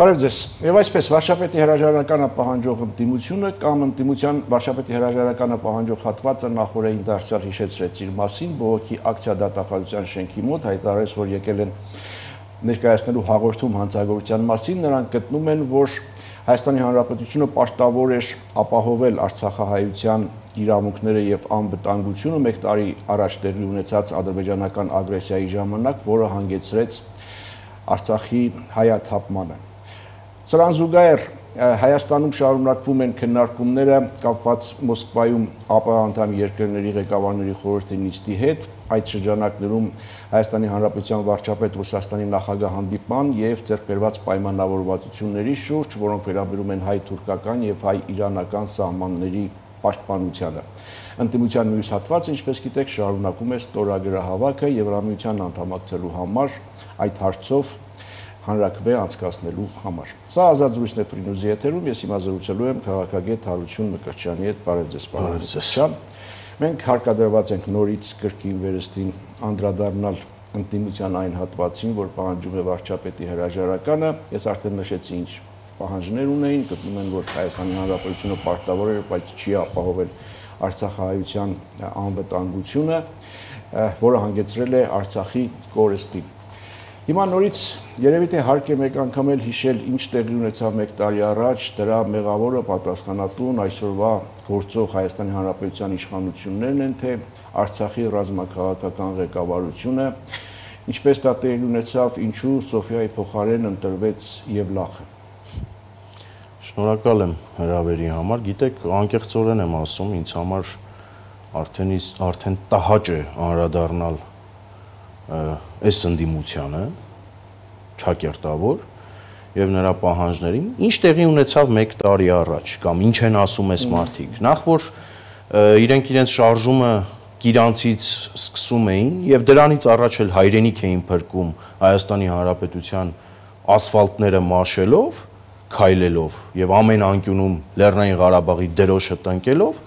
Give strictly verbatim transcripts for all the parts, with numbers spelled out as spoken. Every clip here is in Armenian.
Բարև ձեզ։ Եվ այսպես վարչապետի հրաժարականը պահանջող ընդդիմությունը կամ ընդդիմության վարչապետի հրաժարականը պահանջող հատվածը նախորդին դարձյալ հիշեցրեց իր մասին, բողոքի ակցիա դատախազության շենքի մոտ հայտարարեց, որ եկել են ներկայացնելու հաղորդում հանցագործության մասին, նրանք գտնում են, որ Հայաստանի Հանրապետությունը պարտավոր էր ապահովել արցախահայության իրավունքները եւ անվտանգությունը մեկ տարի առաջ տեղի ունեցած ադրբեջանական ագրեսիայի ժամանակ, որը հանգեցրեց Արցախի հայաթափմանը։ Սրան զուգահեռ Հայաստանում շարունակվում են քննարկումները կապված Մոսկվայում ԱՊՀ անդամ երկրների ղեկավարների խորհրդի նիստի հետ, այդ շրջանակներում Հայաստանի Հանրապետության վարչապետ Ռուսաստանի նախագահ հանդիպման եւ ձեռքբերված պայմանավորվածությունների շուրջ, որոնք վերաբերում են հայ-թուրքական եւ հայ-իրանական սահմանների պաշտպանությանը։ Ընդդիմության մյուս հատվածը, ինչպես գիտեք, շարունակում է ստորագրահավաքը Եվրամիության անդամակցելու համար այդ հարցով հանրաքվե անցկացնելու համար։ Սա ազատ զրույցն է Ֆրինուզի եթերում, ես հիմա զրուցելու եմ քաղաքագետ Հարություն Մկրտչյանի հետ, բարև ձեզ, պարոն Մկրտչյան։ Մենք հարկադրված ենք նորից կրկին վերստին անդրադառնալ ընդդիմության այն հատվածին, որ պահանջում է վարչապետի հրաժարականը, ես արդեն նշեցի ինչ պահանջներ ունեին, գտնում են, որ Հայաստանի Հանրապետությունը պարտավոր է, բայց չի ապահովել արցախահայության անվտանգությունը, որը հանգեցրել է Արցախի կորստին։ Հիմա նորից երևի թե հարկ է մեկ անգամ էլ հիշել ինչ տեղի ունեցավ մեկ տարի առաջ, դրա մեղավորը պատասխանատուն այսօրվա գործող Հայաստանի Հանրապետության իշխանություններն են, թե Արցախի ռազմաքաղաքական ղեկավարությունը, ինչպես դա տեղի ունեցավ, ինչու Սոֆիայի փոխարեն ընտրվեց Եվլախը։ Շնորհակալ եմ հրավերի համար, գիտեք, անկեղծորեն եմ ասում, ինձ համար արդեն արդեն տհաճ է անդրադառնալ այս ընդդիմությանը չակերտավոր եւ նրա պահանջներին, ինչ տեղի ունեցավ մեկ տարի առաջ կամ ինչ են ասում այս մարդիկ։ Նախ որ իրենք իրենց շարժումը Կիրանցից սկսում էին եւ դրանից առաջ էլ հայրենիք էին փրկում Հայաստանի Հանրապետության ասֆալտները մաշելով, քայլելով եւ ամեն անկյունում Լեռնային Ղարաբաղի դրոշը տնկելով,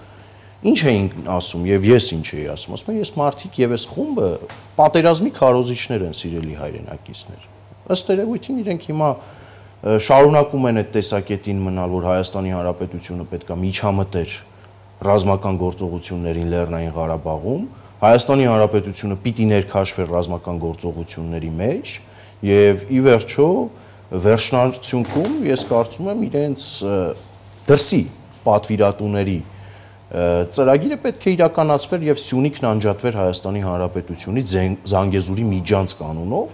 ինչ էին ասում եւ ես ինչ էի ասում, ասում եմ ես մարդիկ եւ այս խումբը պատերազմի քարոզիչներ են, սիրելի հայրենակիցներ։ Ըստ երևույթին իրենք հիմա շարունակում են այդ տեսակետին մնալ, որ Հայաստանի Հանրապետությունը պետք է միջամտեր ռազմական գործողություններին Լեռնային Ղարաբաղում, Հայաստանի Հանրապետությունը պիտի ներքաշվեր ռազմական գործողությունների մեջ եւ ի վերջո վերջնարդյունքում ես կարծում եմ իրենց դրսի պատվիրատուների ծրագիրը պետք է իրականացվեր եւ Սյունիքն անջատվեր Հայաստանի Հանրապետությունից Զանգեզուրի միջանց կանոնով,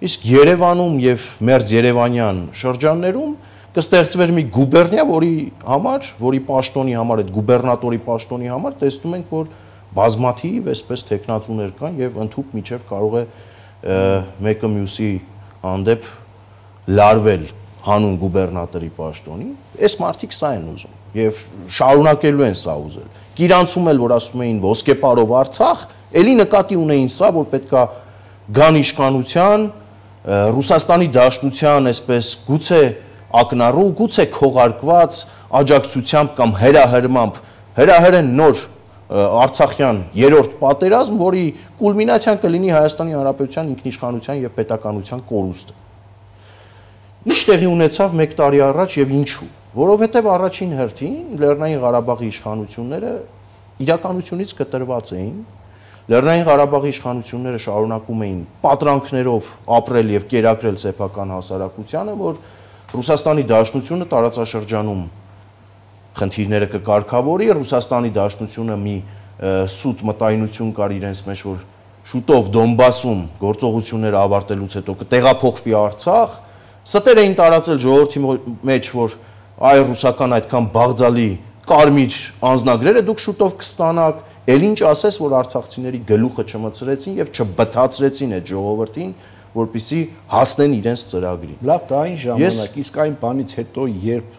իսկ Երևանում եւ մերձ Երևանյան շրջաններում կստեղծվեր մի գուբերնիա, որի համար, որի պաշտոնի համար, այդ գուբերնատորի պաշտոնի համար տեսնում ենք, որ բազմաթիվ այսպես տեխնացուներ կան եւ ընդհուպ միջև կարող է մեկը մյուսի հանդեպ լարվել հանուն գուբերնատորի պաշտոնի, այս մարդիկ սա են ուզում եւ շարունակելու են սա ուզել։ Կիրանցում էլ որ ասում էին ոսկեպարով Արցախ, ելի նկատի ունեին սա, որ պետքա գան իշխանության, Ռուսաստանի Դաշնության այսպես գուցե ակնառու, գուցե քողարկված աջակցությամբ կամ հրահրմամբ հրահրեն նոր Արցախյան երրորդ պատերազմ, որի կուլմինացիան կլինի Հայաստանի Հանրապետության ինքնիշխանության եւ պետականության կորուստը։ Ինչ տեղի ունեցավ մեկ տարի առաջ եւ ինչու, որովհետեւ առաջին հերթին Լեռնային Ղարաբաղի իշխանությունները իրականությունից կտրված էին, Լեռնային Ղարաբաղի իշխանությունները շարունակում էին պատրանքներով ապրել եւ կերակրել սեփական հասարակությանը, որ Ռուսաստանի Դաշնությունը տարածաշրջանում խնդիրները կկարգավորի, Ռուսաստանի Դաշնությունը մի սուտ մտայնություն կար իրենց մեջ, որ շուտով Դոնբասում գործողությունները ավարտելուց հետո կտեղափոխվի Արցախ, ստեր էին տարածել ժողովրդի մեջ, որ այ ռուսական այդքան բաղձալի կարմիր անձնագրերը դուք շուտով կստանաք, ել ինչ ասես, որ արցախցիների գլուխը չմցրեցին եւ չբթացրեցին այդ ժողովրդին, որպեսզի հասնեն իրենց ծրագրին։ Լավ, դա այն ժամանակ, իսկ այն բանից հետո, երբ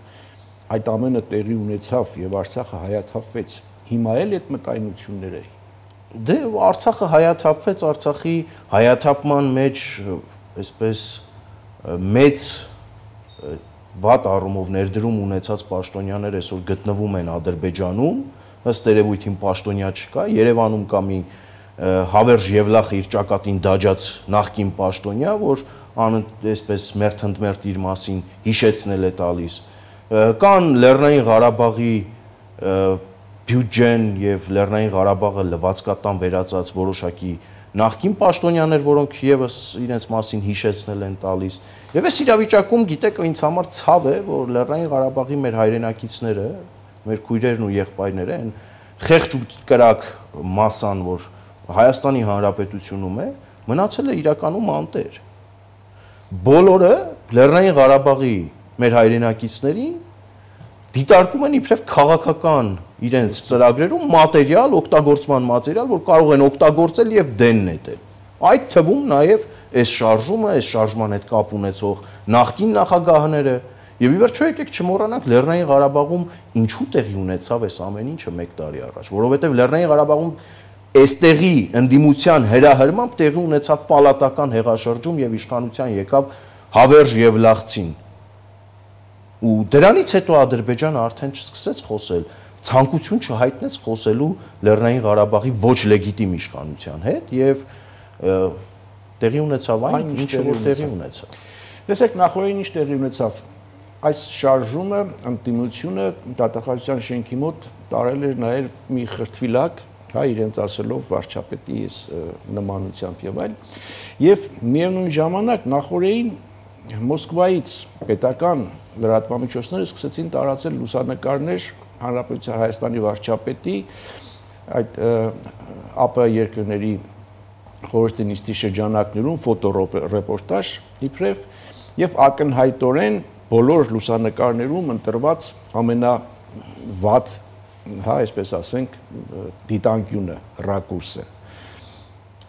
այդ ամենը տեղի ունեցավ եւ Արցախը հայաթափվեց, հիմա էլ այդ մտայնությունները էին։ Դե Արցախը հայաթափվեց, Արցախի հայաթափման մեջ այսպես մեծ վատ առումով ներդրում ունեցած պաշտոնյաներ այսօր գտնվում են Ադրբեջանում, ըստ երևույթին պաշտոնյա չկա, Երևանում կա մի Հավերժ Եվլախը իր ճակատին դաջած նախկին պաշտոնյա, որ այսպես մերթընդմերթ իր մասին հիշեցնել է տալիս։ Կան Լեռնային Ղարաբաղի բյուջեն եւ Լեռնային Ղարաբաղը լվացկատան վերածած որոշակի նախկին պաշտոնյաներ, որոնք եւս իրենց մասին հիշեցնել են տալիս։ Եվ այս իրավիճակում գիտեք, ինձ համար ցավ է, որ Լեռնային Ղարաբաղի մեր հայրենակիցները, մեր քույրերն ու եղբայրները են խեղճ ու կրակ մասան, որ Հայաստանի Հանրապետությունում է, մնացել է իրականում անտեր։ Բոլորը Լեռնային Ղարաբաղի մեր հայրենակիցներին դիտարկում են իբրև քաղաքական իրենց ծրագրերում մատերիալ, օգտագործման մատերիալ, որ կարող են օգտագործել եւ դեն նետել։ Այդ թվում նաեւ այս շարժումը, այս շարժման հետ կապ ունեցող նախկին նախագահները եւ ի վերջո եկեք չմոռանանք Լեռնային Ղարաբաղում ինչու տեղի ունեցավ այս ամեն ինչը մեկ տարի առաջ, որովհետեւ Լեռնային Ղարաբաղում այստեղի ընդդիմության հրահրմամբ տեղի ունեցավ պալատական հեղաշրջում եւ իշխանության եկավ Հավերժ Եվլախցին։ Ու դրանից հետո Ադրբեջանը արդեն չսկսեց խոսել, ցանկություն չհայտնեց խոսելու Լեռնային Ղարաբաղի ոչ լեգիտիմ իշխանության հետ եւ տեղի ունեցավ այն, ինչը որ տեղի ունեցավ։ Տեսեք, նախորդին ինչ տեղի ունեցավ։ Այս շարժումը, ընդդիմությունը դատախազության շենքի մոտ տարել էր նաեւ մի խրտվիլակ, հա, իրենց ասելով վարչապետի նմանությամբ եւ այլ, եւ միևնույն ժամանակ նախորդին Մոսկվայից պետական լրատվամիջոցները սկսեցին տարածել լուսանկարներ Հանրապետության Հայաստանի վարչապետի այդ ԱՊՀ երկրների խորհրդի նիստի շրջանակներում ֆոտոռեպորտաժ իբրև եւ ակնհայտորեն բոլոր լուսանկարներում ընտրված ամենավատ, հա, այսպես ասենք, դիտանկյունը, ռակուրսը։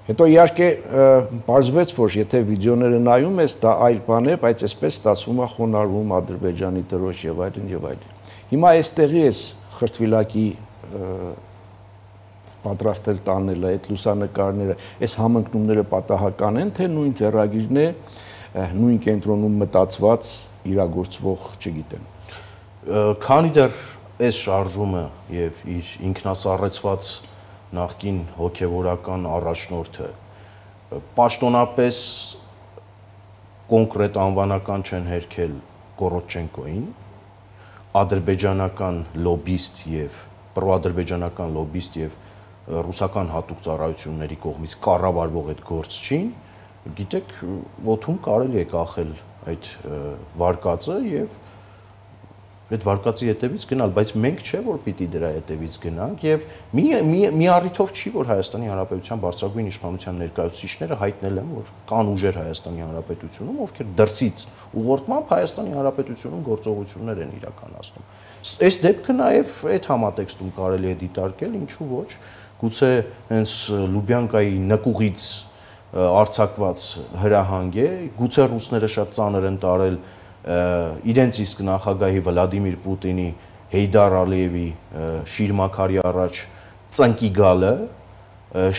Հետո իհարկե բարձվեց, որ եթե վիդեոները նայում ես, դա այլ բան է, բայց այսպես ստացվում է խոնարհվում Ադրբեջանի դրոշ եւ այլն եւ այլն։ Հիմա այստեղի էս խրտվիլակի պատրաստել տանելը, այդ լուսանկարները, այս համընկնումները պատահական են, թե նույն ձեռագիրն է, նույն կենտրոնում մտածված, իրագործվող, չգիտեմ։ Քանի դեռ այս շարժումը եւ իր ինքնասառեցված նախկին հոգևորական առաջնորդը պաշտոնապես կոնկրետ անվանական չեն հերքել Կորոչենկոին, ադրբեջանական լոբիստ եւ պրոադրբեջանական լոբիստ եւ ռուսական հատուկ ծառայությունների կողմից կառավարվող այդ գործչին, գիտեք, ոտում կարելի է կախել այդ վարկածը եւ այդ վարկածի հետևից գնալ, բայց մենք չէ, որ պիտի դրա հետևից գնանք եւ մի մի առիթով չի, որ Հայաստանի Հանրապետության բարձրագույն իշխանության ներկայացուցիչները հայտնել են, որ կան ուժեր Հայաստանի Հանրապետությունում, ովքեր դրսից ուղղորդմամբ Հայաստանի Հանրապետությունում գործողություններ են իրականացնում։ Այս դեպքը նաեւ այդ համատեքստում կարելի է դիտարկել, ինչու ոչ, գուցե հենց Լուբյանկայի նկուղից արձակված հրահանգ է, գուցե ռուսները շատ ծանր են տարել իրենց իսկ նախագահի Վլադիմիր Պուտինի Հեյդար Ալիևի շիրմաքարի առաջ ծնկի գալը,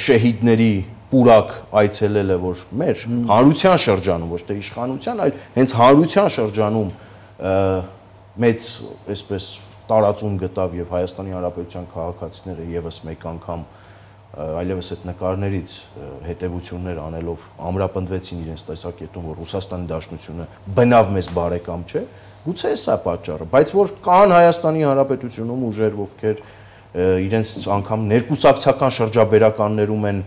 շեհիդների պուրակ այցելելը, որ մեր հանրության շրջանում, ոչ թե իշխանության, այլ հենց հանրության շրջանում մեծ այսպես տարածում գտավ եւ Հայաստանի Հանրապետության քաղաքացիները եւս մեկ անգամ այլևս այդ նկարներից հետևություններ անելով ամրապնդվեցին իրենց տեսակետում, որ Ռուսաստանի Դաշնությունը բնավ մեզ բարեկամ չէ, գուցե սա պատճառը, բայց որ կան Հայաստանի Հանրապետությունում ուժեր, ովքեր իրենց անգամ ներկուսակցական շրջաբերականներում են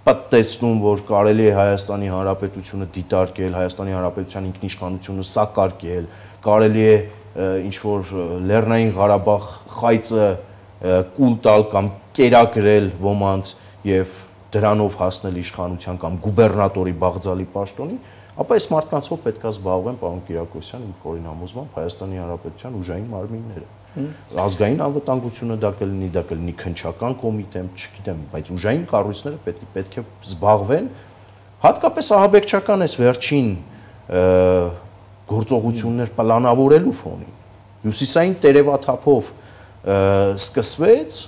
պատտեցնում, որ կարելի է Հայաստանի Հանրապետությունը դիտարկել, Հայաստանի Հանրապետության ինքնիշխանությունը սակարկել, կարելի է ինչ որ Լեռնային Ղարաբաղ խայծը կուլ տալ կամ կերակրել ոմանց եւ դրանով հասնել իշխանության կամ գուբերնատորի Բաղձալի պաշտոնի, ապա այս մարդկանցով պետք է զբաղվեն, պարոն Կիրակոսյան, իմ խորին համոզմամբ Հայաստանի Հանրապետության ուժային մարմինները։ Ազգային անվտանգությունը դա կլինի, դա կլինի քննչական կոմիտե, չգիտեմ, բայց ուժային կառույցները պետք է պետք է զբաղվեն, հատկապես ահաբեկչական այս վերջին գործողություններ պլանավորելու ֆոնին։ Հյուսիսային տերևաթափով սկսվեց,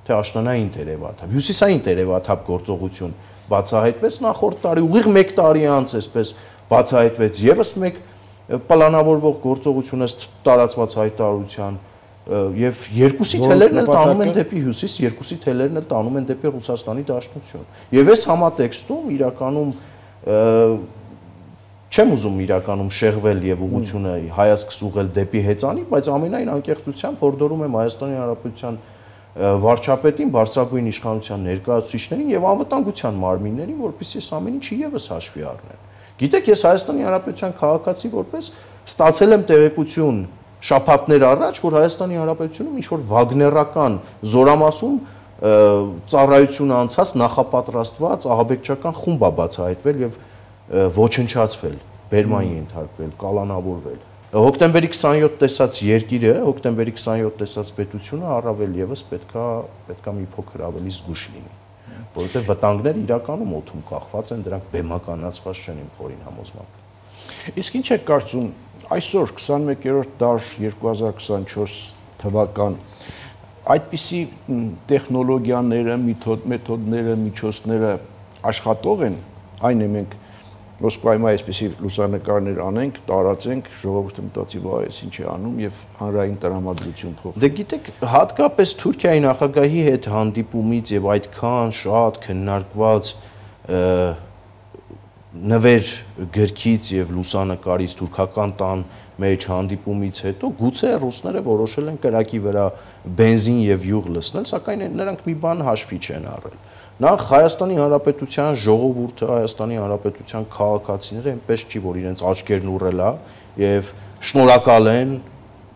թե աշնանային տերևաթափ, հյուսիսային տերևաթափ գործողություն բացահայտվեց նախորդ տարի, ուղիղ մեկ տարի անց այսպես բացահայտվեց եւս մեկ պլանավորվող գործողություն ըստ տարածված հայտարարության, եւ երկուսի թելերն էլ տանում են դեպի հյուսիս, երկուսի թելերն էլ տանում են դեպի Ռուսաստանի Դաշնություն։ Եվ այս համատեքստում իրականում չեմ ուզում իրականում շեղվել եւ ուղղությունը հայացքս ուղղել դեպի հեծանի, բայց ամենայն անկեղծությամբ հորդորում եմ Հայաստանի Հանրապետության վարչապետին, բարձրագույն իշխանության ներկայացուցիչներին եւ անվտանգության մարմիններին, որպեսզի այս ամեն ինչը եւս հաշվի առնեն։ Գիտեք, ես Հայաստանի Հանրապետության քաղաքացի որպես ստացել եմ տեղեկություն շաբաթներ առաջ, որ Հայաստանի Հանրապետությունում ինչ որ վագներական զորամասում ծառայություն անցած նախապատրաստված ահաբեկչական խումբ է բացահայտվել եւ ոչնչացվել, բերման ենթարկվել, կալանավորվել։ Հոկտեմբերի քսանյոթ տեսած երկիրը, հոկտեմբերի քսանյոթ տեսած պետությունը առավել եւս պետքա պետքա մի փոքր ավելի զգուշ լինի, որովհետեւ վտանգները իրականում օդում կախված են, դրանք բեմականացված չեն իմ խորին համոզմամբ։ Իսկ ինչ եք կարծում այսօր քսանմեկերորդ դար երկու հազար քսանչորս թվական այդպիսի տեխնոլոգիաները, մեթոդները, միջոցները աշխատող են, այն է մենք Մոսկվայում այսպիսի լուսանկարներ անենք, տարածենք, ժողովուրդը մտածի, վայ, այս ինչ է անում եւ հանրային տրամադրություն փոխի։ Դե գիտեք, հատկապես Թուրքիայի նախագահի հետ հանդիպումից եւ այդքան շատ քննարկված նվեր գրքից եւ լուսանկարից թուրքական տան մեջ հանդիպումից հետո գուցե ռուսները որոշել են կրակի վրա բենզին եւ յուղ լցնել, սակայն նրանք մի բան հաշվի չեն առել։ Նախ Հայաստանի Հանրապետության ժողովուրդը, Հայաստանի Հանրապետության քաղաքացիները այնպես չի, որ իրենց աչքերն ուռել է եւ շնորհակալ են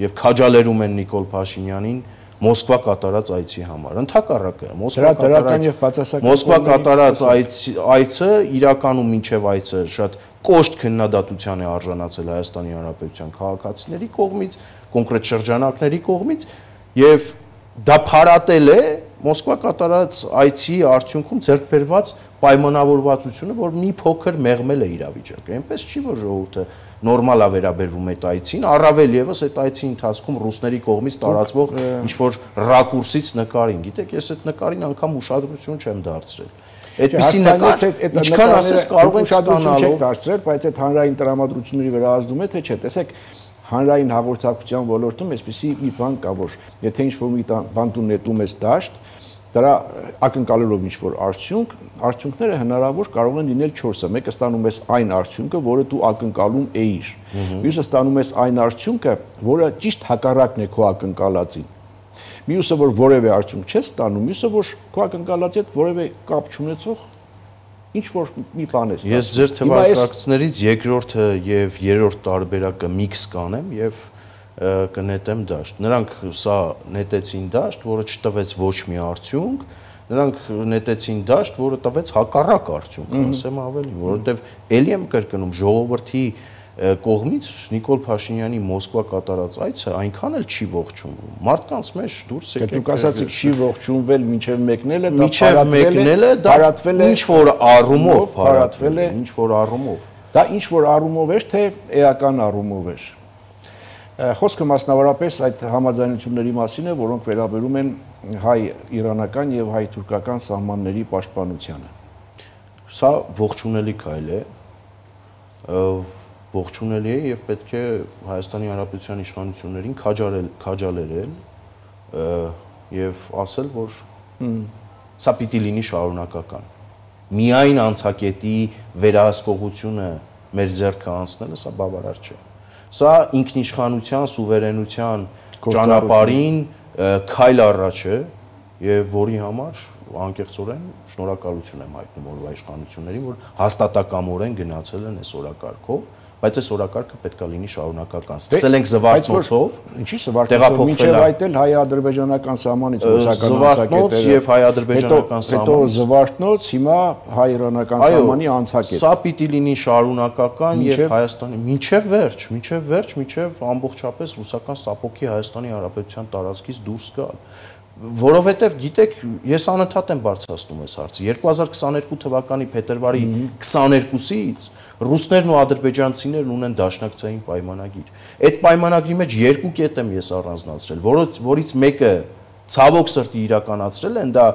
եւ քաջալերում են Նիկոլ Փաշինյանին Մոսկվա կատարած այցի համար։ Ընդհակառակը, Մոսկվա կատարած Մոսկվա կատարած այցը իրականում մինչև այցը շատ կոշտ քննադատության է արժանացել Հայաստանի Հանրապետության քաղաքացիների կողմից, կոնկրետ շրջանակների կողմից եւ դա փարատել է Մոսկվա կատարած այցի արդյունքում ձեռք բերված պայմանավորվածությունը, որ մի փոքր մեղմել է իրավիճակը։ Այնպես չի, որ ժողովուրդը նորմալ է վերաբերվում այդ այցին, առավել եւս այդ այցի ընթացքում ռուսների կողմից տարածվող ինչ-որ ռակուրսից նկարին։ Գիտեք, ես այդ նկարին անգամ ուշադրություն չեմ դարձրել։ Այդպիսի նկար, ինչքան ասես կարող եք ստանալու դարձրել, բայց այդ հանրային տրամադրությունների վրա ազդում է, թե չէ։ Տեսեք, հանրային հաղորդակցության ոլորտում այսպիսի մի բան կա, որ եթե ինչ-որ մի բան դու նետում ես դաշտ, դրա ակնկալելով ինչ-որ արդյունք, արդյունքները հնարավոր կարող են լինել չորսը։ Մեկը ստանում ես այն արդյունքը, որը դու ակնկալում էիր։ Մյուսը ստանում ես այն արդյունքը, որը ճիշտ հակառակն է քո ակնկալածին։ Մյուսը, որ որևէ արդյունք չես ստանում, մյուսը, որ քո ակնկալածի հետ որևէ կապ չունեցող ինչ որ մի բան է ստացվում։ Ես ձեր թվարկածներից երկրորդը եւ երրորդ տարբերակը միքս կանեմ եւ կնետեմ դաշտ։ Նրանք սա նետեցին դաշտ, որը չտվեց ոչ մի արդյունք, նրանք նետեցին դաշտ, որը տվեց հակառակ արդյունք, ասեմ ավելին, որովհետեւ ելի եմ կրկնում ժողովրդի կողմից Նիկոլ Փաշինյանի Մոսկվա կատարած այցը այնքան էլ չի ողջունվում։ Մարդկանց մեջ դուրս եկեք։ Դուք ասացիք չի ողջունվել մինչև մեկնելը, դա մեկնելը դա ինչ որ առումով փարատվել է, ինչ որ առումով։ Դա ինչ որ առումով էր, թե էական առումով էր։ Խոսքը մասնավորապես այդ համաձայնությունների մասին է, որոնք վերաբերում են հայ-իրանական եւ հայ-թուրքական սահմանների պաշտպանությանը։ Սա ողջունելի քայլ է։ Ողջունելի է եւ պետք է Հայաստանի Հանրապետության իշխանություններին քաջալերել, քաջալերել եւ ասել, որ սա պիտի լինի շարունակական։ Միայն անցակետի վերահսկողությունը մեր ձեռքը անցնելը սա բավարար չէ։ Սա ինքնիշխանության, սուվերենության ճանապարհին քայլ առաջ է եւ որի համար անկեղծորեն շնորհակալություն եմ հայտնում օրվա իշխանություններին, որ հաստատակամորեն գնացել են այս օրակարգով, բայց այս օրակարգը պետք է լինի շարունակական։ Սկսել ենք Զվարթնոցով, ինչի Զվարթնոցով, մինչև այդ էլ հայ-ադրբեջանական սահմանից ռուսական անցակետերը, եւ հայ-ադրբեջանական սահմանից, հետո Զվարթնոց, հիմա հայ-իրանական սահմանի անցակետ։ Սա պիտի լինի շարունակական եւ Հայաստանի մինչև վերջ, մինչև վերջ, մինչև ամբողջապես ռուսական սապոկի Հայաստանի Հանրապետության տարածքից դուրս գալ։ Որովհետև գիտեք, ես անընդհատ եմ բարձրացնում այս հարցը։ երկու հազար քսաներկու թվականի փետրվարի քսաներկուսից ռուսներն ու ադրբեջանցիներն ունեն դաշնակցային պայմանագիր։ Այդ պայմանագրի մեջ երկու կետ եմ ես առանձնացրել, որից որից մեկը ցավոք սրտի իրականացրել են, դա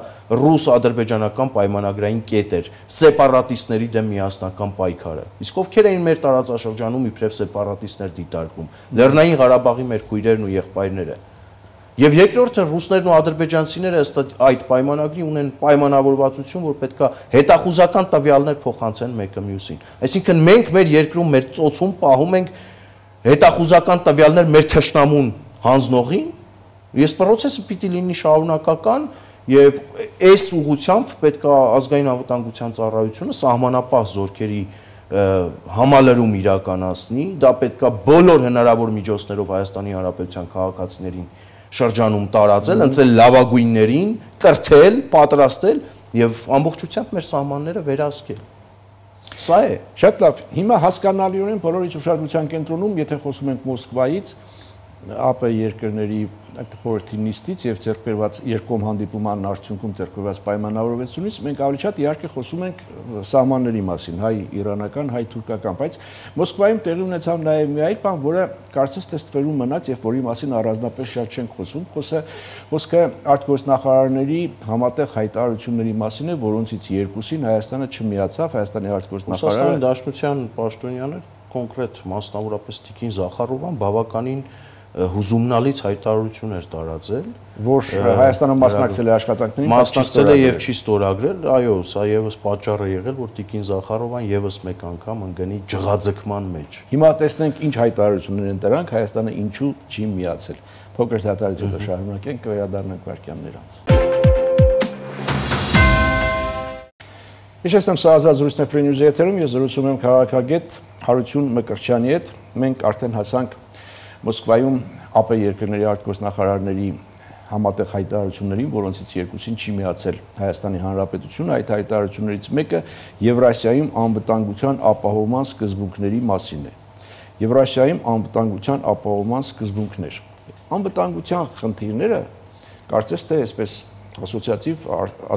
ռուս-ադրբեջանական պայմանագրային կետ էր, սեպարատիստների դեմ միասնական պայքարը։ Իսկ ովքեր էին մեր տարածաշրջանում իբրև սեպարատիստներ դիտարկում, Լեռնային Ղարաբաղի մեր քույրերն ու եղբայրները։ Եվ երկրորդը ռուսներն ու ադրբեջանցիները ըստ այդ պայմանագրի ունեն պայմանավորվածություն, որ պետքա հետախուզական տվյալներ փոխանցեն մեկը մյուսին։ Այսինքն մենք մեր երկրում մեր ծոցում պահում ենք հետախուզական տվյալներ մեր թշնամուն հանձնողին, ես process-ը պիտի լինի շարունակական եւ այս ուղղությամբ պետքա ազգային անվտանգության ծառայությունը սահմանապահ զորքերի համալրում իրականացնի, դա պետքա բոլոր հնարավոր միջոցներով Հայաստանի Հանրապետության քաղաքացիներին շրջանում տարածել, ընտրել լավագույններին, կրթել, պատրաստել եւ ամբողջությամբ մեր սահմանները վերահսկել։ Սա է։ Շատ լավ։ Հիմա հասկանալիորեն բոլորից ուշադրության կենտրոնում, եթե խոսում ենք Մոսկվայից, ԱՊ երկրների այդ խորհրդի նիստից եւ ձեռքբերված երկկողմ հանդիպման արդյունքում ձեռքբերված պայմանավորվածությունից մենք ավելի շատ իհարկե խոսում ենք սահմանների մասին, հայ-իրանական, հայ-թուրքական, բայց Մոսկվայում տեղի ունեցավ նաեւ մի այլ բան, որը կարծես թե ստվերում մնաց եւ որի մասին առանձնապես շատ չենք խոսում, խոսքը խոսքը արտգործնախարարների համատեղ հայտարարությունների մասին է, որոնցից երկուսին Հայաստանը չմիացավ, Հայաստանի արտգործնախարարը Ռուսաստանի Դաշնության պաշտոնյաներ, կոնկրետ մասնավորապես Տիկին Զախարովան բավականին հուզումնալից հայտարարություն էր տարածել, որ Հայաստանը մասնակցել է աշխատանքներին, մասնակցել է եւ չի ստորագրել, այո, սա եւս պատճառ է եղել, որ Տիկին Զախարովան եւս մեկ անգամ ընկնի ջղաձգման մեջ։ Հիմա տեսնենք ինչ հայտարարություններ են դրանք, Հայաստանը ինչու չի միացել։ Փոքր դատարից հետո շարունակենք, կվերադառնանք վարքյաններ անց։ Իհարկե, սա ազատ զրույցն է Free News-ի եթերում, ես զրուցում եմ քաղաքագետ Հարություն Մկրտչյանի հետ։ Մենք արդեն հասանք Մոսկվայում ԱՊ երկրների արտգործնախարարների համատեղ հայտարարություններին, որոնցից երկուսին չի միացել Հայաստանի Հանրապետությունը, այդ հայտարարություններից մեկը Եվրասիայում անվտանգության ապահովման սկզբունքների մասին է։ Եվրասիայում անվտանգության ապահովման սկզբունքներ։ Անվտանգության խնդիրները կարծես թե այսպես ասոցիատիվ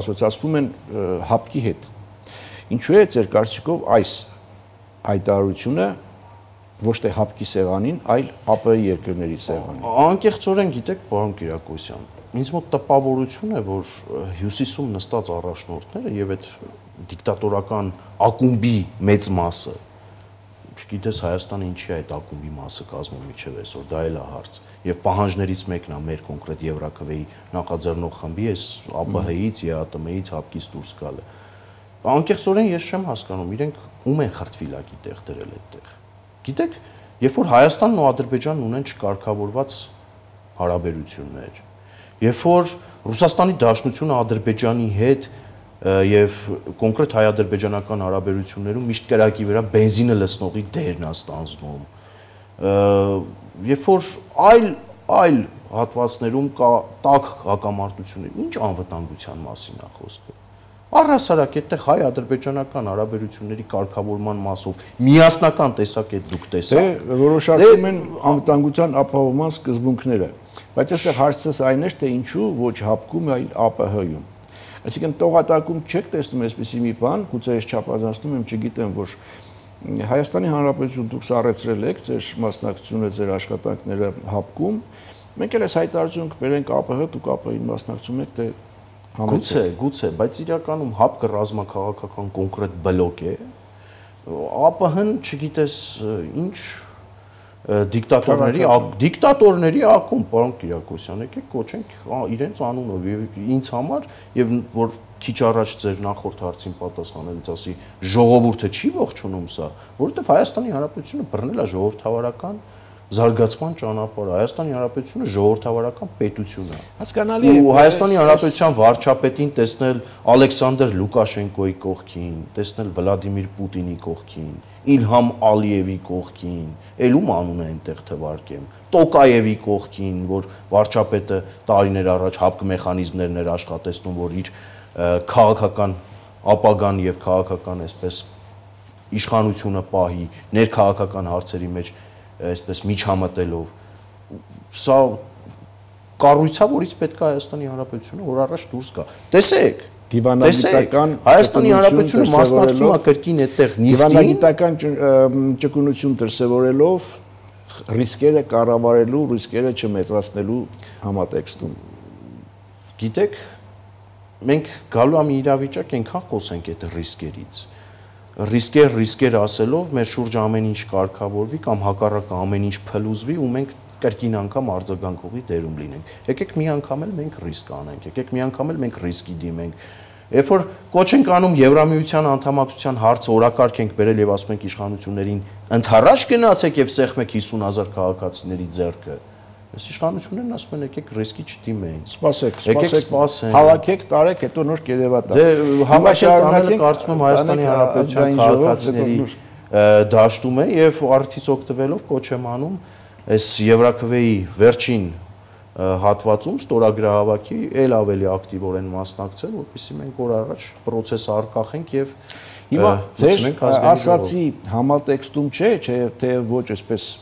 ասոցիացվում են հապկի հետ։ Ինչու է ձեր կարծիքով այս հայտարարությունը ոչ թե հապկի սեղանին, այլ ԱՊ երկրների սեղանին։ Անկեղծորեն գիտեք, պարոն Կիրակոսյան, ինձ մոտ տպավորություն է, որ հյուսիսում նստած առաջնորդները եւ այդ դիկտատորական ակումբի մեծ մասը, չգիտես Հայաստանը ինչի է այդ ակումբի մասը կազմում միջև այսօր, դա էլ է հարց։ Եվ պահանջներից մեկն է մեր կոնկրետ Եվրաքվեի նախաձեռնող խմբի այս ԱՊՀ-ից, ԵԱՏՄ-ից հապկից դուրս գալը։ Անկեղծորեն ես չեմ հասկանում, իրենք ում են խրտվիլակի տեղ դրել այդտեղ։ Գիտեք, երբ որ Հայաստանն ու Ադրբեջանն ունեն չկարգավորված հարաբերություններ, երբ որ Ռուսաստանի Դաշնությունը Ադրբեջանի հետ եւ կոնկրետ հայ-ադրբեջանական հարաբերություններում միշտ կրակի վրա բենզինը լցնողի դերն է ստանձնում, երբ որ այլ այլ հատվածներում կա տաք հակամարտություններ, ինչ անվտանգության մասին է խոսքը։ Առհասարակ այդտեղ հայ-ադրբեջանական հարաբերությունների կարգավորման մասով միասնական տեսակետ դուք տեսաք։ Դե որոշակում են անվտանգության ապահովման սկզբունքները, բայց այստեղ հարցս այն է, թե ինչու ոչ հապկում, այլ ԱՊՀ-ում։ Այսինքն տողատակում չեք տեսնում այսպիսի մի բան, գուցե ես չափազանցնում եմ, չգիտեմ, որ Հայաստանի Հանրապետություն դուք սառեցրել եք ձեր մասնակցությունը, ձեր աշխատանքները հապկում, մենք էլ այս հայտարարություն կբերենք ԱՊՀ, դուք ԱՊՀ-ին մասնակցում եք, թե Գուցե, գուցե, բայց իրականում հապկը ռազմաքաղաքական կոնկրետ բլոկ է, ԱՊՀ-ն, չգիտես, ինչ դիկտատորների, դիկտատորների ակումբ, պարոն Կիրակոսյան, եկեք կոչենք իրենց անունով եւ ինձ համար եւ որ քիչ առաջ ձեր նախորդ հարցին պատասխանելուց ասի ժողովուրդը չի ողջունում սա, որովհետեւ Հայաստանի Հանրապետությունը բռնել է ժողովրդավարական զարգացման ճանապարհը, Հայաստանի Հանրապետությունը ժողովրդավարական պետություն է։ Հասկանալի է։ Ու Հայաստանի Հանրապետության վարչապետին տեսնել Ալեքսանդր Լուկաշենկոյի կողքին, տեսնել Վլադիմիր Պուտինի կողքին, Իլհամ Ալիևի կողքին, ել ում անուն է այնտեղ թվարկեմ, Տոկաևի կողքին, որ վարչապետը տարիներ առաջ հապկ մեխանիզմներն էր աշխատեցնում, որ իր քաղաքական ապագան եւ քաղաքական այսպես իշխանությունը պահի, ներքաղաքական հարցերի մեջ այսպես միջամտելով, սա կառույցա, որից պետք է Հայաստանի Հանրապետությունը որ առաջ դուրս գա։ Տեսեք, դիվանագիտական Հայաստանի Հանրապետությունը մասնակցում է կրկին այդտեղ նիստին, դիվանագիտական ճկունություն դրսևորելով ռիսկերը կառավարելու, ռիսկերը չմեծացնելու համատեքստում։ Գիտեք, մենք գալու եմ իրավիճակ այնքան խոսենք այդ ռիսկերից, ռիսկեր, ռիսկեր ասելով մեր շուրջ ամեն ինչ կարգավորվի կամ հակառակը ամեն ինչ փլուզվի ու մենք կրկին անգամ արձագանքողի դերում լինենք։ Եկեք մի անգամ էլ մենք ռիսկ անենք, եկեք մի անգամ էլ մենք ռիսկի դիմենք։ Երբ որ կոչ ենք անում Եվրամիության անդամակցության հարցը օրակարգ ենք բերել եւ ասում ենք իշխանություններին ընթառաջ գնացեք եւ սեղմեք հիսուն հազար քաղաքացիների ձեռքը, այս իշխանություններն ասում են եկեք ռիսկի չդիմենք։ Սպասեք, եկեք սպասենք։ Հավաքեք, տարեք, հետո նոր կերևատա։ Դե հավաքել տանելը կարծում եմ Հայաստանի Հանրապետության քաղաքացիների դաշտում է եւ արդից օգտվելով կոչ եմ անում այս Եվրաքվեի վերջին հատվածում ստորագրահավաքի էլ ավելի ակտիվորեն մասնակցել, որպեսզի մենք օր առաջ process արկախենք եւ հիմա ձեր ասացի համատեքստում չէ, չէ թե ոչ այսպես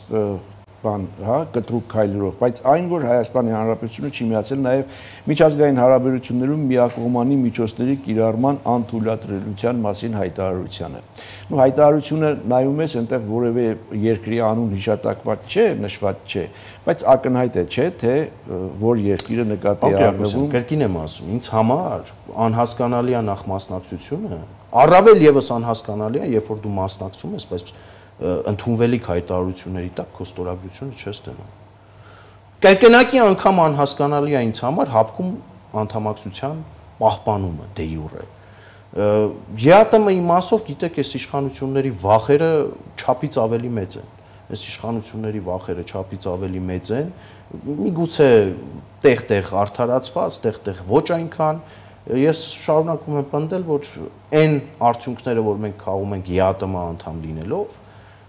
բան, հա, կտրուկ քայլերով, բայց այն որ Հայաստանի Հանրապետությունը չի միացել նաև միջազգային հարաբերություններում միակողմանի միջոցների կիրառման անթույլատրելիության մասին հայտարարությանը։ Ու հայտարարությունը նայում ես, այնտեղ որևէ երկրի անուն հիշատակված չէ, նշված չէ, բայց ակնհայտ է, չէ, թե որ երկիրը նկատի է առնվում։ Կրկին եմ ասում, ինձ համար անհասկանալի է նախ մասնակցությունը, առավել եւս անհասկանալի է, երբ որ դու մասնակցում ես, բայց ընդունվելիք հայտարարությունների տակ քո ստորագրությունը չես դնում։ Կրկնակի անգամ անհասկանալի է ինձ համար հապկում անդամակցության պահպանումը դե յուրե։ ԵԱՏՄ-ի մասով գիտեք, այս իշխանությունների վախերը չափից ավելի մեծ են։ Այս իշխանությունների վախերը չափից ավելի մեծ են։ Միգուցե տեղ-տեղ արդարացված, տեղ-տեղ ոչ այնքան։ Ես շարունակում եմ պնդել, որ այն արդյունքները, որ մենք քաղում ենք ԵԱՏՄ անդամ լինելով,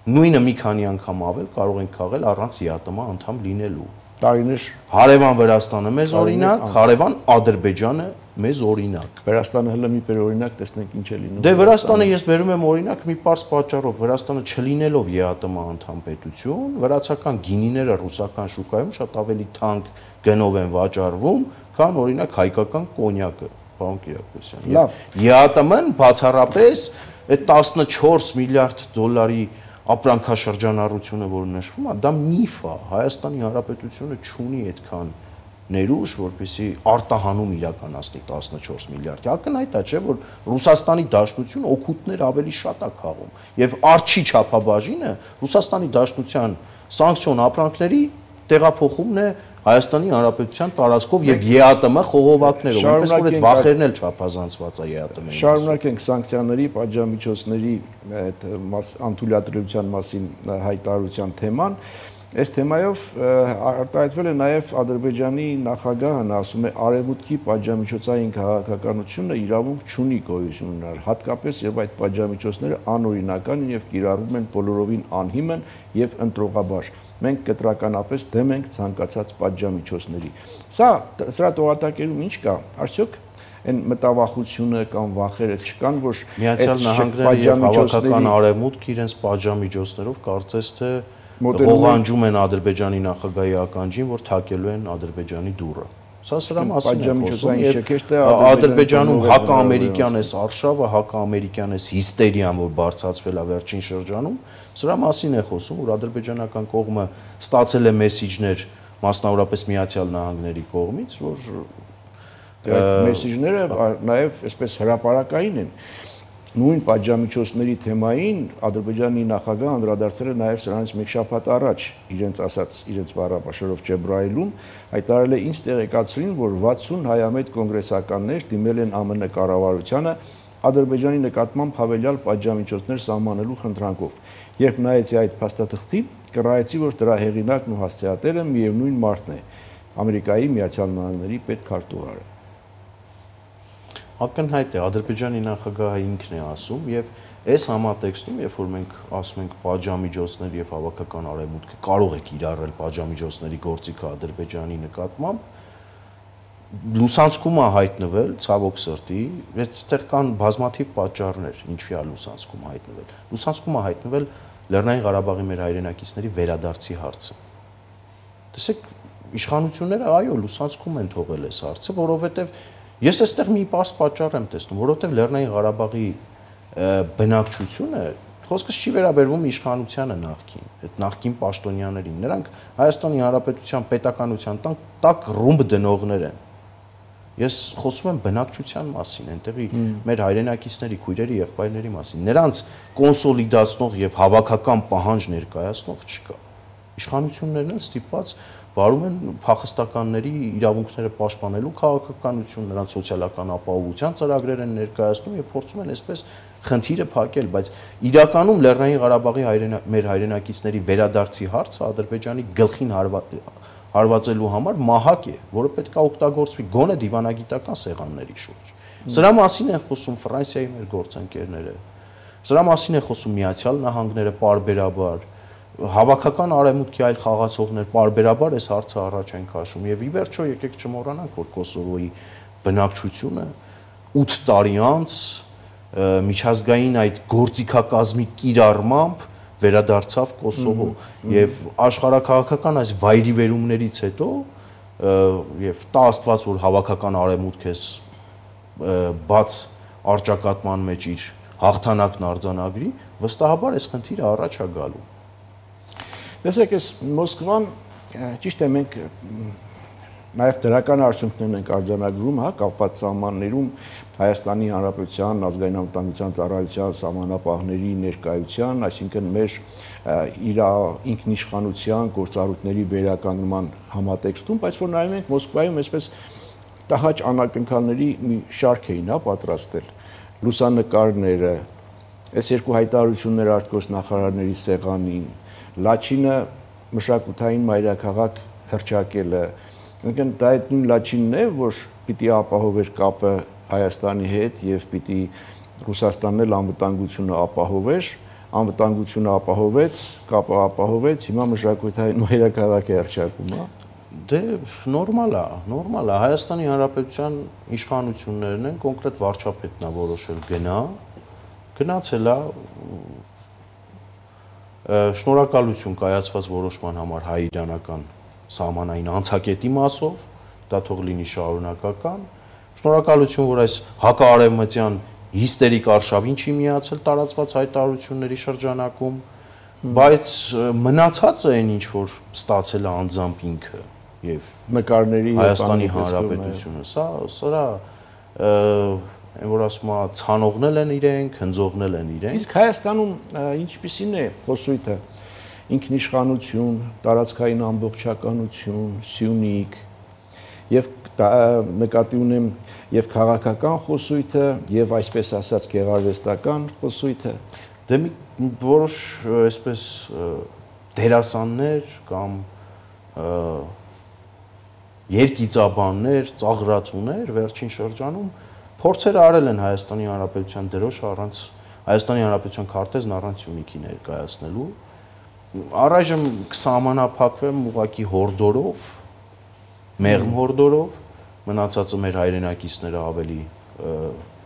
նույնը մի քանի անգամ ավել կարող ենք քաղել առանց ԵԱՏՄ անդամ լինելու։ Տարիներ հարևան Վրաստանը մեզ օրինակ, հարևան Ադրբեջանը մեզ օրինակ։ Վրաստանը հələ մի բեր օրինակ, տեսնենք ինչ է լինում։ Դե Վրաստանը ես բերում եմ օրինակ մի պարզ պատճառով, Վրաստանը չլինելով ԵԱՏՄ անդամ պետություն, վրացական գինիները ռուսական շուկայում շատ ավելի թանկ գնով են վաճառվում, քան օրինակ հայկական կոնյակը, պարոն Կիրակոսյան։ Լավ, ԵԱՏՄ-ն բացառապես այդ տասնչորս միլիարդ դոլարի ապրանքաշրջանառությունը, որ նշվում է, դա միֆ է։ Հայաստանի Հանրապետությունը չունի այդքան ներուժ, որպեսզի արտահանում իրականացնի տասնչորս միլիարդ։ Ակնհայտ է, չէ, որ Ռուսաստանի Դաշնություն օգուտներ ավելի շատ է քաղում, եւ արչի չափաբաժինը Ռուսաստանի Դաշնության սանկցիոն ապրանքների տեղափոխումն է Հայաստանի Հանրապետության տարածքով եւ ԵԱՏՄ խողովակներով, այնպես որ այդ վախերն էլ չափազանցված է ԵԱՏՄ-ի։ Շարունակենք սանկցիաների, պատժամիջոցների այդ անթույլատրելիության մասին հայտարարության թեման։ Այս թեմայով արտահայտվել է նաև Ադրբեջանի նախագահն ասում է արևմուտքի պատժամիջոցային քաղաքականությունը իրավունք չունի գոյություն ունենալ, հատկապես երբ այդ պատժամիջոցները անօրինական են եւ կիրառվում են բոլորովին անհիմն եւ ընտրողաբար։ Մենք կտրականապես դեմ ենք ցանկացած պատժամիջոցների։ Սա սրա տողատակերում ինչ կա, արդյոք այն մտավախությունը կամ վախերը չկան, որ Միացյալ Նահանգները եւ հավաքական արևմուտքը իրենց պատժամիջոցներով կարծես թե ողանջում են Ադրբեջանի նախագահի ականջին, որ թակելու են Ադրբեջանի դուռը։ Սա սրա մասին է խոսում։ Ադրբեջանում հակաամերիկյան էս արշավը, հակաամերիկյան էս հիստերիան, որ բարձրացվել է վերջին շրջանում, սրա մասին է խոսում, որ ադրբեջանական կողմը ստացել է մեսիջներ, մասնավորապես Միացյալ Նահանգների կողմից, որ այդ մեսիջները նաև այսպես հրապարակային են։ Նույն պատժամիջոցների թեմային Ադրբեջանի նախագահը անդրադարձել է նաև սրանից մեկ շաբաթ առաջ իրենց ասած իրենց բառապաշարով Ջեբրայիլում հայտարարել է ինձ տեղեկացրին, որ վաթսուն հայամետ կոնգրեսականներ դիմել են ԱՄՆ կառավարությանը Ադրբեջանի նկատմամբ հավելյալ պատժամիջոցներ սահմանելու խնդրանքով։ Երբ նայեցի այդ փաստաթղթին, կռահեցի, որ դրա հեղինակն ու հասցեատերը միևնույն մարդն է, Ամերիկայի Միացյալ Նահանգների պետքարտուղարը։ Ակնհայտ է, Ադրբեջանի նախագահը ինքն է ասում եւ այս համատեքստում, երբ որ մենք ասում ենք պատժամիջոցներ եւ հավաքական արևմուտքը կարող է կիրառել պատժամիջոցների գործիքը Ադրբեջանի նկատմամբ, լուսանցքում է հայտնվել ցավոք սրտի, այստեղ կան բազմաթիվ պատճառներ, ինչի է լուսանցքում հայտնվել։ Լուսանցքում է հայտնվել Լեռնային Ղարաբաղի մեր հայրենակիցների վերադարձի հարցը։ Տեսեք, իշխանությունները այո, լուսանցքում են թողել այս հարցը, որովհետեւ ես այստեղ մի պարզ պատճառ եմ տեսնում, որովհետև Լեռնային Ղարաբաղի բնակչությունը խոսքս չի վերաբերվում իշխանությանը նախկին, այդ նախկին պաշտոնյաներին, նրանք Հայաստանի Հանրապետության պետականության տակ ռումբ դնողներ են։ Ես խոսում եմ բնակչության մասին, այնտեղի մեր հայրենակիցների, քույրերի, եղբայրների մասին։ Նրանց կոնսոլիդացնող եւ հավաքական պահանջ ներկայացնող չկա։ Իշխանություններն են ստիպված վարում են փախստականների իրավունքները պաշտպանելու քաղաքականություն, նրանց սոցիալական ապահովության ծրագրեր են ներկայացնում եւ փորձում են այսպես խնդիրը փակել, բայց իրականում Լեռնային Ղարաբաղի մեր հայրենակիցների վերադարձի հարցը Ադրբեջանի գլխին հարվածելու համար մահակ է, որը պետք է օգտագործվի գոնե դիվանագիտական սեղանների շուրջ։ Սրա մասին են խոսում Ֆրանսիայի մեր գործընկերները։ Սրա մասին են խոսում Միացյալ Նահանգները պարբերաբար, հավաքական արևմուտքի այլ խաղացողներ պարբերաբար այս հարցը առաջ են քաշում եւ ի վերջո եկեք չմոռանանք, որ Կոսովոյի բնակչությունը ութ տարի անց միջազգային այդ գործիքակազմի կիրառմամբ վերադարձավ Կոսովո եւ աշխարհակաղակական այս վայրիվերումներից հետո եւ տա Աստված որ հավաքական արևմուտք էս բաց արճակատման մեջ իր հաղթանակն արձանագրի, վստահաբար այս խնդիրը առաջ է գալու։ Տեսեք, այս Մոսկվան ճիշտ է մենք նաև դրական արդյունքներն ենք արձանագրում, հա, կապված սահմաններում Հայաստանի Հանրապետության ազգային անվտանգության ծառայության սահմանապահների ներկայության, այսինքն մեր իր ինքնիշխանության գործառույթների վերականգնման համատեքստում, բայց որ նայում ենք Մոսկվայում այսպես տհաճ անակնկալների մի շարք էին, հա, պատրաստել լուսանկարները, այս երկու հայտարարությունները արտգործնախարարների սեղանին, Լաչինը մշակութային մայրաքաղաք հռչակելը, ընկն դա այդ նույն Լաչինն է, որ պիտի ապահովեր կապը Հայաստանի հետ եւ պիտի Ռուսաստանն էլ անվտանգությունը ապահովեր, անվտանգությունը ապահովեց, կապը ապահովեց, հիմա մշակութային մայրաքաղաք է հռչակում, հա։ Դե նորմալ է, նորմալ է, Հայաստանի Հանրապետության իշխանություններն են, կոնկրետ վարչապետն է որոշել գնա, գնացել է շնորհակալություն կայացված որոշման համար հայ-իրանական սահմանային անցակետի մասով, դա թող լինի շարունակական, շնորհակալություն, որ այս հակաարևմտյան հիստերիկ արշավին չի միացել տարածված հայտարարությունների շրջանակում, բայց մնացածը այն ինչ որ ստացել է անձամբ ինքը եւ նկարների Հայաստանի Հանրապետությունը, սա սրա այն որ ասում է ցանողնել են իրենք, հնձողնել են իրենք։ Իսկ Հայաստանում ինչպիսին է խոսույթը ինքնիշխանություն, տարածքային ամբողջականություն, Սյունիք եւ նկատի ունեմ եւ քաղաքական խոսույթը եւ այսպես ասած գեղարվեստական խոսույթը։ Դե մի որոշ այսպես դերասաններ կամ երկիծաբաններ, ծաղրացուներ վերջին շրջանում փորձեր արել են Հայաստանի Հանրապետության դրոշը առանց Հայաստանի Հանրապետության քարտեզն առանց Սյունիքի ներկայացնելու։ Առայժմ կսահմանափակվեմ ուղղակի հորդորով, մեղմ հորդորով, մնացածը մեր հայրենակիցները ավելի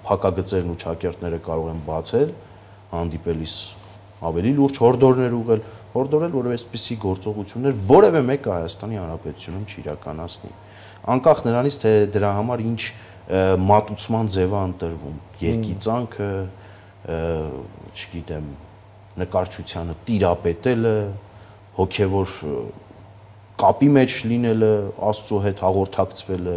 փակագծերն ու ճակերտները կարող են բացել, հանդիպելիս ավելի լուրջ հորդորներ ուղղել, հորդորել, որով այսպիսի գործողություններ որևէ մեկը Հայաստանի Հանրապետությունում չիրականացնի։ Անկախ նրանից, թե դրա համար ինչ մատուցման ձև է ընտրվում, երկիծանքը, չգիտեմ, նկարչությանը տիրապետելը, հոգևոր կապի մեջ լինելը, Աստծո հետ հաղորդակցվելը,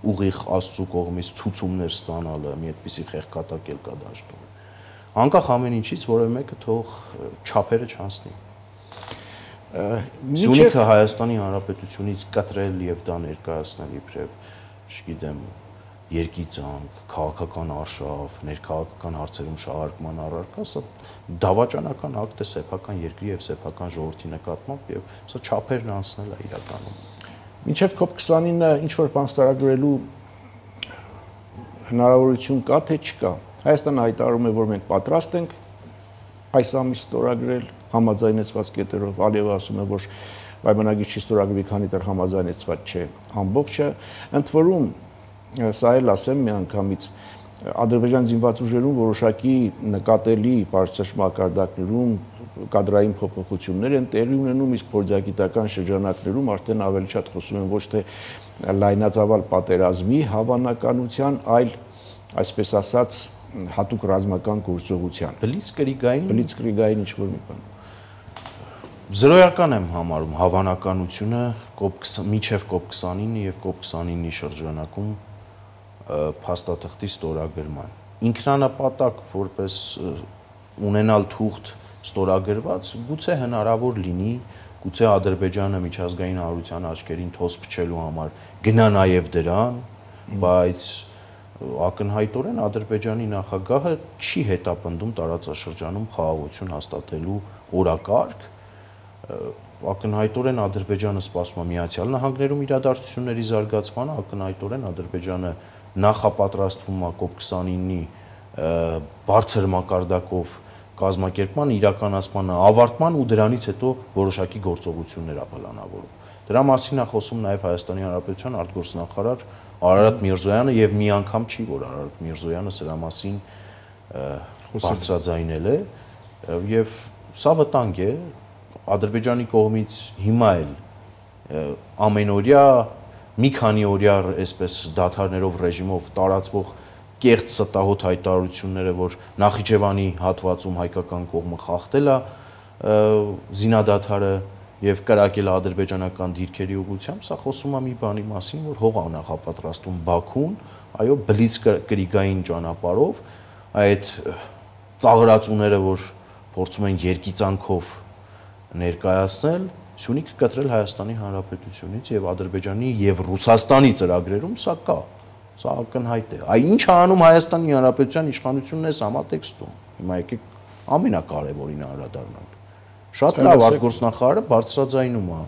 ուղիղ Աստծո կողմից ցուցումներ ստանալը, մի այդպիսի խեղկատակել կա դաշտում։ Անկախ ամեն ինչից որևէ մեկը թող չափերը չանցնի։ Սյունիքը Հայաստանի Հանրապետությունից կտրել եւ դա ներկայացնել իբրև, չգիտեմ, երկիծանք, քաղաքական արշավ, ներքաղաքական հարցերում շահարկման առարկա, սա դավաճանական ակտ է սեփական երկրի եւ սեփական ժողովրդի նկատմամբ եւ սա չափերն անցնել է իրականում։ Մինչեւ կոպ քսանինը ինչ որ բան ստորագրելու հնարավորություն կա թե չկա։ Հայաստանը հայտարարում է, որ մենք պատրաստ ենք այս ամիս ստորագրել համաձայնեցված կետերով, Ալիևը ասում է, որ պայմանագիր չի ստորագրվի, քանի դեռ համաձայնեցված չէ ամբողջը, ընդ որում սա էլ ասեմ մի անգամից Ադրբեջան զինված ուժերում որոշակի նկատելի բարձր մակարդակներում կադրային փոփոխություններ են տեղի ունենում, իսկ փորձագիտական շրջանակներում արդեն ավելի շատ խոսում են ոչ թե լայնածավալ պատերազմի հավանականության, այլ այսպես ասած հատուկ ռազմական գործողության։ Բլիցկրիգային, բլիցկրիգային ինչ-որ մի բան։ Զրոյական եմ համարում հավանականությունը կոպ միջև կոպ քսանինը եւ կոպ քսանինի շրջանակում փաստաթղթի ստորագրման։ Ինքնանպատակ որպես ունենալ թուղթ ստորագրված, գուցե հնարավոր լինի, գուցե Ադրբեջանը միջազգային հանրության աչքերին թոս փչելու համար գնա նաև դրան, բայց ակնհայտորեն Ադրբեջանի նախագահը չի հետապնդում տարածաշրջանում խաղաղություն հաստատելու օրակարգ, ակնհայտորեն Ադրբեջանը սպասում է Միացյալ Նահանգներում իրադարձությունների զարգացմանը, ակնհայտորեն Ադրբեջանը նախապատրաստվում է կոպ քսանինի բարձր մակարդակով կազմակերպման իրականացման ավարտման ու դրանից հետո որոշակի գործողություններ է պլանավորում։ Դրա մասին է խոսում նաև Հայաստանի Հանրապետության արտգործնախարար Արարատ Միրզոյանը եւ մի անգամ չի, որ Արարատ Միրզոյանը սրա մասին բարձրաձայնել է եւ սա վտանգ է Ադրբեջանի կողմից հիմա էլ ամենօրյա մի քանի օրյա այսպես դադարներով ռեժիմով տարածվող կեղծ ստահոդ հայտարարությունները, որ Նախիջևանի հատվածում հայկական կողմը խախտել է զինադադարը եւ կրակել ադրբեջանական դիրքերի ուղղությամբ, սա խոսում է մի բանի մասին, որ հող է նախապատրաստում Բաքուն, այո, բլիցկրիգային ճանապարհով, այդ ծաղրածուները, որ փորձում են երկիծանքով ներկայացնել, Սյունիքը կտրել Հայաստանի Հանրապետությունից եւ Ադրբեջանի եւ Ռուսաստանի ծրագրերում սա կա, սա ակնհայտ է։ Այ ինչ է անում Հայաստանի Հանրապետության իշխանությունն էս համատեքստում։ Հիմա եկեք ամենակարևորին անդրադառնանք։ Շատ լավ արտգործնախարարը բարձրաձայնում է,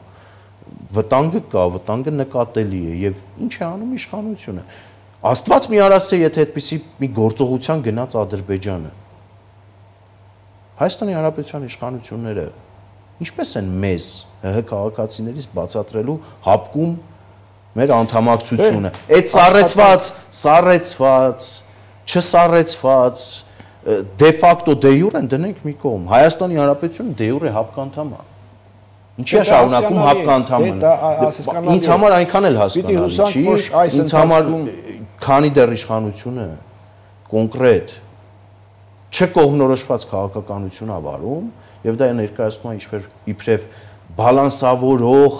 վտանգը կա, վտանգը նկատելի է եւ ինչ է անում իշխանությունը։ Աստված մի արասե, եթե այդպիսի մի գործողության գնաց Ադրբեջանը։ Հայաստանի Հանրապետության իշխանությունները ինչպես են մեզ ՀՀ քաղաքացիներից բացատրելու հապկում մեր անդամակցությունը։ Այդ սառեցված, սառեցված, չսառեցված դե ֆակտո դե յուր են դնենք մի կողմ։ Հայաստանի Հանրապետությունը դե յուր է հապկանդամ է։ Ինչի է շարունակում հապկանդամը։ Ինձ համար այնքան էլ հասկանալի չի, ինձ համար քանի դեռ իշխանությունը կոնկրետ չկողմնորոշված քաղաքականություն ա վարում եւ դա ներկայացնում է ինչպես իբրև բալանսավորող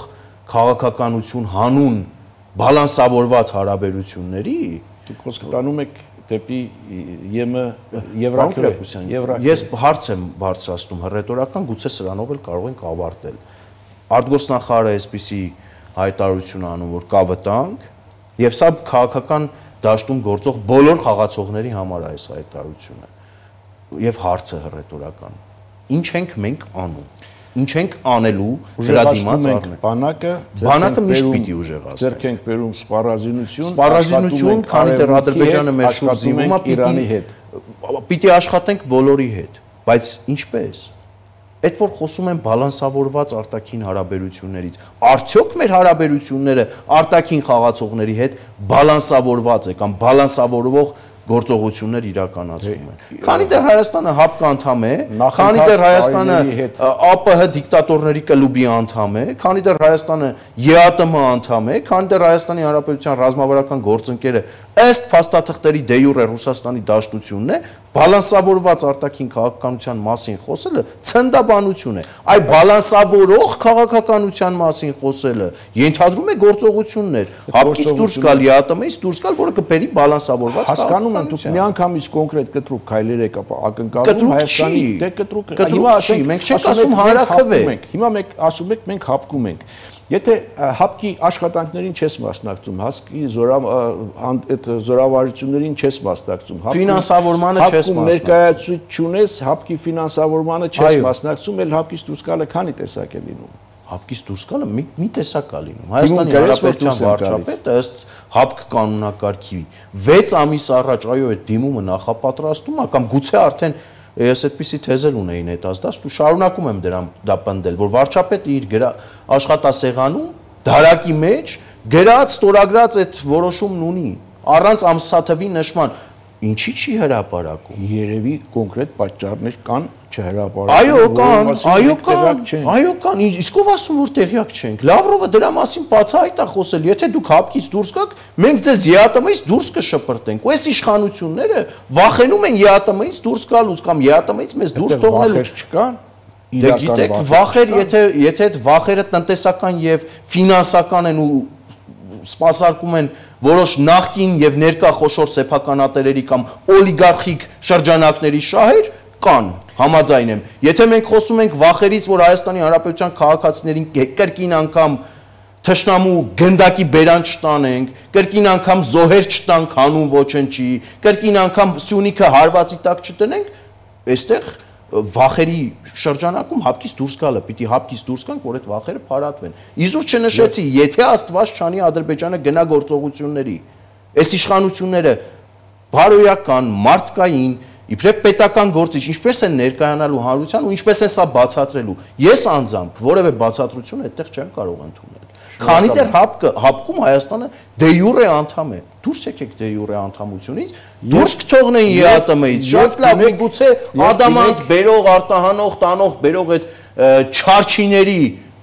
քաղաքականություն հանուն բալանսավորված հարաբերությունների, դուք խոսքը տանում եք դեպի ԵՄ Եվրաքրոպուսյան։ Ես հարց եմ բարձրացնում հռետորական, գուցե սրանով էլ կարող ենք ավարտել։ Արտգործնախարարը այսպիսի հայտարարություն անում, որ կա վտանգ, եւ սա քաղաքական դաշտում գործող բոլոր խաղացողների համար է այս հայտարարությունը։ Եվ հարցը հռետորական։ Ինչ ենք մենք անում։ Ինչ ենք անելու դրա դիմաց առնել։ Բանակը բանակը միշտ պիտի ուժեղացնի։ Ձեռք ենք բերում սպառազինություն, սպառազինություն, քանի դեռ Ադրբեջանը մեր շուրջ զինվում է Իրանի հետ։ Պիտի աշխատենք բոլորի հետ, բայց ինչպես։ Այդ որ խոսում են բալանսավորված արտաքին հարաբերություններից, արդյոք մեր հարաբերությունները արտաքին խաղացողների հետ բալանսավորված է կամ բալանսավորվող գործողություններ իրականացվում են։ Քանի դեռ Հայաստանը հապկ անդամ է, քանի դեռ Հայաստանը ԱՊՀ դիկտատորների կլուբի անդամ է, քանի դեռ Հայաստանը ԵԱՏՄ անդամ է, քանի դեռ Հայաստանի Հանրապետության ռազմավարական գործընկերը ըստ փաստաթղթերի դե յուրե Ռուսաստանի դաշտությունն է, բալանսավորված արտաքին քաղաքականության մասին խոսելը ցնդաբանություն է։ Այ բալանսավորող քաղաքականության մասին խոսելը ենթադրում է գործողություններ, հապկից դուրս գալ, ԵԱՏՄ-ից դուրս գալ, որը կբերի բալանսավորված հասկանում եմ, դուք միանգամից կոնկրետ կտրուկ քայլեր եք ակնկալում Հայաստանի դե կտրուկ հիմա ասենք մենք չենք ասում հանրաքվե։ Հիմա մենք ասում եք մենք հապկում ենք։ Եթե հապկի աշխատանքներին չես մասնակցում, հասկի այդ զորավարություններին չես մասնակցում, ֆինանսավորմանը չես մասնակցում, ներկայացուցիչ չունես, հապկի ֆինանսավորմանը չես մասնակցում, էլ հապկից դուրս գալը քանի տեսակ է լինում։ Հապկից դուրս գալը մի մի տեսակ է լինում։ Հայաստանի Հանրապետության վարչապետը ըստ հապկ կանոնակարգի վեց ամիս առաջ այո այդ դիմումը նախապատրաստում է կամ գուցե արդեն ես այդպիսի թեզել ունեի նետազդած ու շարունակում եմ դրան դա պնդել, որ վարչապետը իր աշխատասեղանում դարակի մեջ գրած ստորագրած այդ որոշումն ունի առանց ամսաթվի նշման, ինչի չի հրապարակում։ Երևի կոնկրետ պատճառներ կան չհրապարակում։ Այո, կան, այո կան, այո կան, իսկ ով ասում որ տեղյակ չենք։ Լավրովը դրա մասին բացահայտ է խոսել, եթե դուք հապկից դուրս գաք, մենք ձեզ ԵԱՏՄ-ից դուրս կշպրտենք։ Ու այս իշխանությունները վախենում են ԵԱՏՄ-ից դուրս գալուց կամ ԵԱՏՄ-ից մեզ դուրս թողնելուց չկան։ Դե գիտեք, վախեր, եթե եթե այդ վախերը տնտեսական եւ ֆինանսական են ու սպասարկում են որոշ նախկին եւ ներկա խոշոր սեփականատերերի կամ օլիգարխիկ շրջանակների շահեր, կան, համաձայն եմ։ Եթե մենք խոսում ենք վախերից, որ Հայաստանի Հանրապետության քաղաքացիներին կրկին անգամ թշնամու գնդակի բերան չտանենք, կրկին անգամ զոհեր չտանք հանուն ոչնչի, կրկին անգամ Սյունիքը հարվածի տակ չտնենք, այստեղ վախերի շրջանակում հապկից դուրս գալը, պիտի հապկից դուրս գանք, որ այդ վախերը փարատվեն։ Իզուր չնշեցի, եթե Աստված չանի Ադրբեջանը գնա գործողությունների, այս իշխանությունները բարոյական, մարդկային, իբրև պետական գործիչ, ինչպես են ներկայանալու հանրության ու ինչպես են սա բացատրելու։ Ես անձամբ որևէ բացատրություն այդտեղ չեմ կարող ընդունել։ Քանի դեռ հապկը հապկում Հայաստանը դե յուրե անդամ է։ Դուրս եկեք դե յուրե անդամությունից, դուրս կթողնեն ԵԱՏՄ-ից։ Շատ լավ, միգուցե ադամանտ բերող, արտահանող, տանող, բերող այդ չարչիների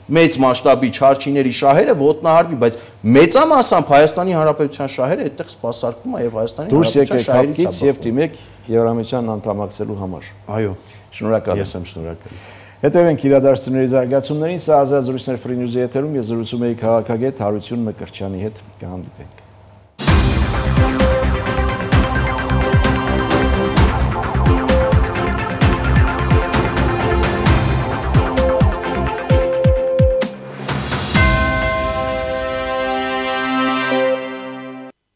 մեծ մասշտաբի չարչիների շահերը ոտնահարվի, բայց մեծամասամբ Հայաստանի Հանրապետության շահերը այդտեղ սպասարկվում է եւ Հայաստանի Հանրապետության շահերից եւ դիմեք Եվրամիության անդամակցելու համար։ Այո, շնորհակալ եմ։ Ես եմ շնորհակալ։ Հետևենք իրադարձությունների զարգացումներին, սա ազատ զրույցներ Free News-ի եթերում, ես զրուցում եի քաղաքագետ Հարություն Մկրտչյանի հետ, կհանդիպենք։